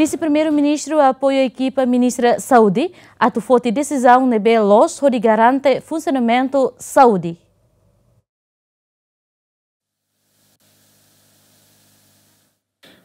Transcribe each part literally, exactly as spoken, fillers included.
Vise-Primeiru-Ministru apoia ekipa Ministra Saúde atu foti desizaun ne'ebé loos hodi garante funsionamentu saúde.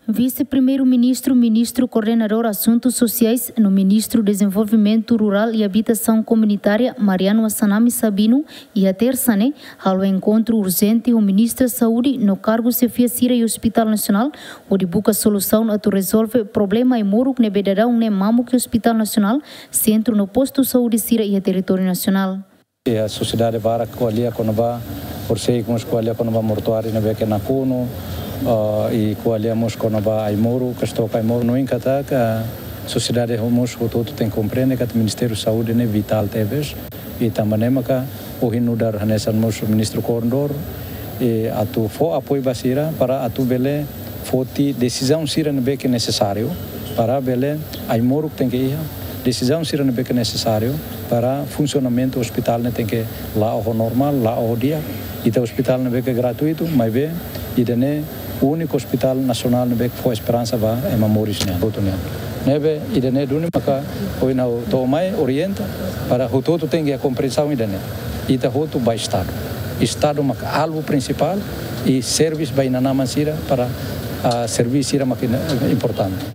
Vise-Primeiru-Ministru, Ministru Koordenadór Asuntus Sosiais no Ministru Dezenvolvimentu Rurál i Abitasaun Komunitária, Mariano Assanami Sabino, iha tersa ne'e halo enkontru urjente ho Ministra Saúde no kargu xefia sira iha Hospitál Nasionál, hodi buka solusaun atu rezolve problema ai-moruk ne'ebé daudaun ne'e mamuk iha Hospitál Nasionál, sentru no postu saúde sira iha territóriu nasionál. Iha sosiedade barak ko'alia kona-ba, horisehik mós ko'alia kona-ba mortuáriu ne'ebé ke nakonu, ah, i ko'alia mós kona-ba ai-moruk, estoke ai-moruk. No entantu, ah, sosiedade ho mós hotu-hotu tenke komprende katak Ministériu Saúde ne'e vitál tebes. I tanba ne'e maka ohin nu'udar hanesan mós Ministru Koordenadór, i atu fó apoiu ba sira para atu bele foti desizaun sira ne'ebé ke nesesáriu para bele ai-moruk tenke iha, desizaun sira ne'ebé ke nesesáriu para funsionamentu hospitál ne'e tenke la'o ho normál, la'o ho di'ak. Ita hospitál ne'ebé ke gratuitu, maibé ida-ne'e úniku hospitál nasionál ne'ebé ke fó esperansa ba ema moris nian, hotu nian. Ne'ebé ida-ne'e duni maka ohin ha'u to'o mai orienta para hotu-hotu tenke iha komprensaun ida-ne'e. Ita hotu ba Estadu. Estadu maka alvu prinsipál i serbisu ba inan-aman sira para, ah, serbisu sira maka importante.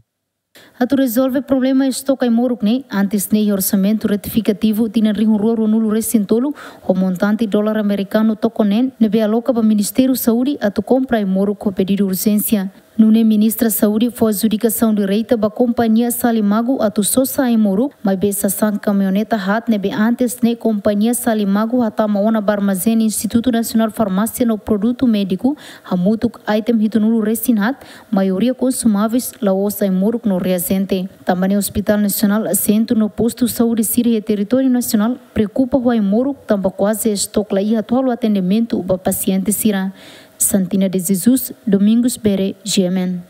Atu rezolve problema estoke ai-moruk ne'e, antes ne'e iha orsamentu retifikativu tinan rihun rua ruanulu resin tolu, ho montante dolar amerikanu tokon neen, ne'ebé aloka ba Ministériu Saúde atu kompra ai-moruk ho pedidu urjénsia. Nune'e Ministra Saúde fó adjudikasaun direta ba kompañia Salimagu atu sosa ai-moruk, maibé sasán kamioneta haat ne'ebé antes ne'e kompañia Salimagu hatama ona ba armazén Institutu Nasionál Farmásia no Produtu Médiku, hamutuk item hitunulu resin haat, maioria konsumáveis, la'ós ai-moruk no reajente. Tanba ne'e Hospitál Nasionál, sentru no postu saúde sira iha territóriu nasionál preokupa ho ai-moruk, tanba kuaze estoke la iha atu halo atendimentu ba pasiente sira. Santina de Jesus, Domingos Bere, G M N.